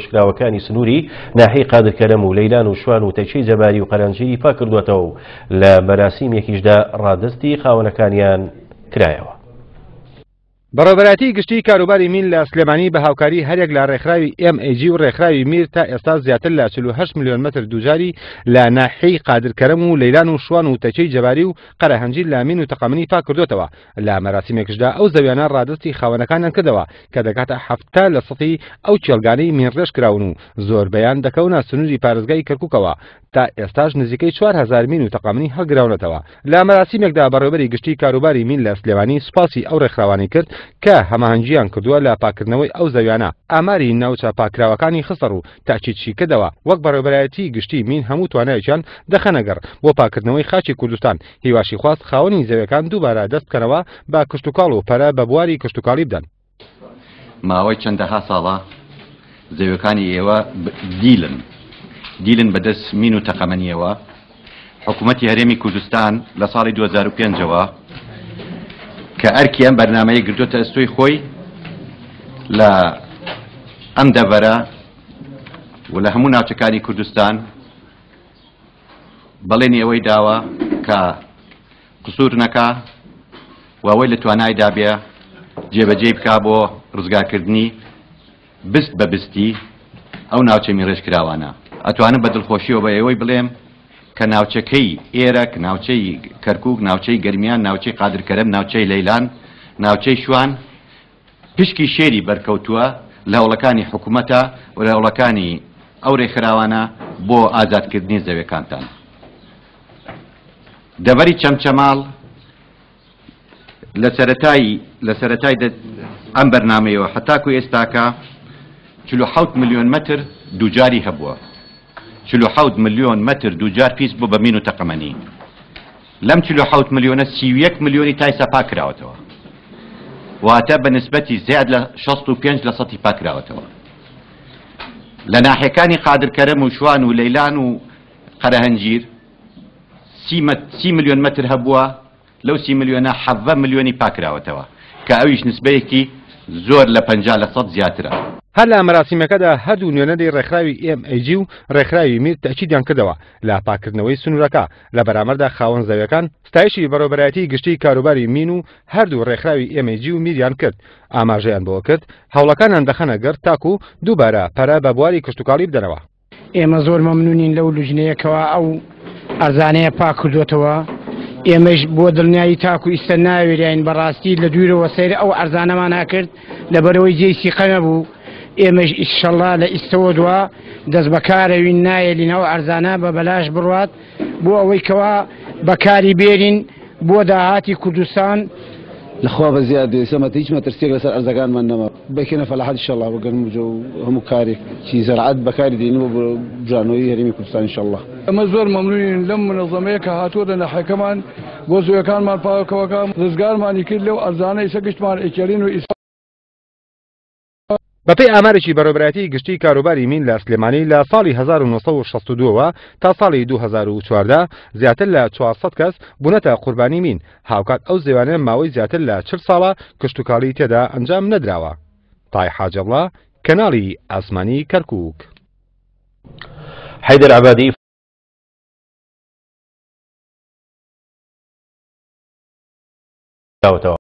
کراوەکانی سنووری ناحیەی قادرکەرەم و لەیلان و شوان و تەکیەی جەباری و قەرەنجیری پاککردووەتەوە و لە مەراسیمێکیشدا ڕادەستی خاوەنەکانیان کرایەوە. بەڕێوەبەرایەتیی گشتیی کاروباری مین لە سلێمانی بە هاوکاری هەریەک لە ڕێکخراوی MAG و ڕێکخراوی میر تا ئێستا زیاتر لە 48 ملیۆن مەتر دووجاری لە ناحیەی قادرکەرەم و لەیلان و شوان و تەکیەی جەباری و قەرەهەنجیر لە مین و تەقەمەنی پاککردۆتەوە. لە مەراسیمێکشدا ئەو زەویانە ڕادەستی خاوەنەکانیان کردەوە کە دەگاتە 70 لە سەتی ئەو کێڵگانەی مینڕێژ کراون و زۆربەیان دەکەونە سنووری پارێزگای کەرکووکەوە. تا ئێستاش نزیکەی 4000 مین و تەقەمەنی هەڵگراونەتەوە. لە مەراسیمێکدا بەڕێوەبەری گشتی کاروباری مین لە سلێمانی سوپاسی ئەو ڕێکخراوانەی کرد کە هەماهەنگییان کردووە لە پاککردنەوەی ئەو زەویانە، ئاماری ناوچە پاککراوەکانی خستەڕوو، تاکیدشی کردەوە، وەک بەڕێوەبەرایەتیی گشتیی مین هەموو توانایەکیان دەخەنەگەڕ بۆ پاککردنەوەی خاکی کوردستان، هیواشی خواست خاوەنی زەویەکان دووبارە دەست بکەنەوە بە کشتوکاڵ و پەرە بە بواری کشتوکاڵی بدەن. ماوەی چەندەها ساڵە زەویەکانی ئێوە دیلن دیلن بەدەست مین و تەقەمەنیەوە. حکوومەتی هەرێمی کوردستان لە ساڵی 2005ەوە کە ئەرکی ئەم بەرنامەیە گرتوتە ئەستۆی خۆی لە ئەم دەڤەرە و لە هەموو ناوچەکانی کوردستان بەڵێنی ئەوەی داوە کە قسوور نەکا و ئەوەی لە توانایدا بێ جێبەجێی بکا بۆ ڕزگارکردنی بست بە بستی ئەو ناوچە میڕێژکراوانە. ئەتوانم بە دڵخۆشیەوە بە ئێوەی بڵێم کە ناوچەکەی ئێرەک، ناوچەی کەرکوک، ناوچەی گەرمیان، ناوچەی قادرکەرەم، ناوچەی لەیلان، ناوچەی شوان پشکی شێری بەرکەوتووە لە هەوڵەکانی حکومەتە و لە هەوڵەکانی ئەو رێکخراوانە بۆ ئازادکردنی زەویەکانتان. دەڤەری چەمچەماڵ لە سەرەتای لە سەرەتای ئەم بەرنامەیەوە هەتاکو ئێستاکە 47 ملیۆن مەتر دووجاری هەبووە. 47 ملیۆن مەتر دووجار پیس بوو بە مین و تەقەمەنی. لەم 47 ملیۆنە 31 ملیۆنی تایسا پاک کراوەتەوە. واتە بە نسبەتی زیاد لە 65 لە سەتی پاک کراوەتەوە. لە ناحیەکانی قادرکەرەم و شوان و لەیلان و قەرەهەنجیر سی ملیۆن مەتر هەبووە، لەو سی ملیۆنە 17 ملیۆنی پاکراوەتەوە کە ئەویش نسبەیەکی زۆر لە 50 لە سەد زیاترە. هەر لە مەراسیمەکەدا هەردوو نوێنەری ڕێکخراوی MAG و ڕێکخراوی میر تەئکیدیان کردەوە لە پاککردنەوەی سنوورەکە، لە بەرامبەردا خاوەن زەویەکان ستایشی بەڕێوەبەرایەتی گشتی کاروباری مین و هەردوو ڕێکخراوی MAG و میریان کرد، ئاماژەیان بەوە کرد هەوڵەکانیان دەخەنە گەڕ تاکو دووبارە پەرە بە بواری کشتوکاڵی بدەنەوە. ئێمە زۆر مەمنونین لەو لوجنەیە کەوا ئەو ئەرزانەیە پاک کردوێتەوە، ئێمەش بۆ دڵنیایی تاکو ئیستا ناوێراین بەڕاستی لە دوورەوە سەیر ئەو ئەرزانەمان کرد لەبەرەوەی جێی سیقە نەبوو. ئێمەش ئیشەڵا لە ئیستەوە دوا دەست بەکارەوین نایەلین ئەو ئەرزانە بە بەلاش بڕوات بۆ ئەوەی کەوا بەکاری بێرین بۆ داهاتی کوردستان. لەخوا بە زیاد بێ سەمەت هیچ مەترسیەک لەسەر ئەرزەکانمان نەما بەکەنە فەلاحەت ئینشەڵا بۆ گەنم و جۆ و هەموو کارێک چی زەرعەت بەکاری دێنین بۆ بژانەوەی هەرێمی کوردستان ئینشەڵا. ئێمە زۆر مەمنونین لەم منەزەمەیە کە هاتووە لە ناحیەکەمان بۆ زەویەکانمان پاکەوەکە ڕزگارمانی کرد لەو ئەرزانە ئیسە گشتمان ئەیکێڵین و ئیسە. بەپێی ئامارێکی بەڕێوەبەرایەتیی گشتیی کاروباری مین لە سلێمانی لە ساڵی 1962 وە تا ساڵی 2014 زیاتر لە 400 کەس بوونەتە قوربانی مین، هاوکات ئەو زێوانە ماوەی زیاتر لە 40 ساڵە کشتوکاڵی تێدا ئەنجام نەدراوە. تای حاجەڵا، کەناڵی ئاسمانی کەرکووک. حەیدەر عەبادی. کراوەتەوە.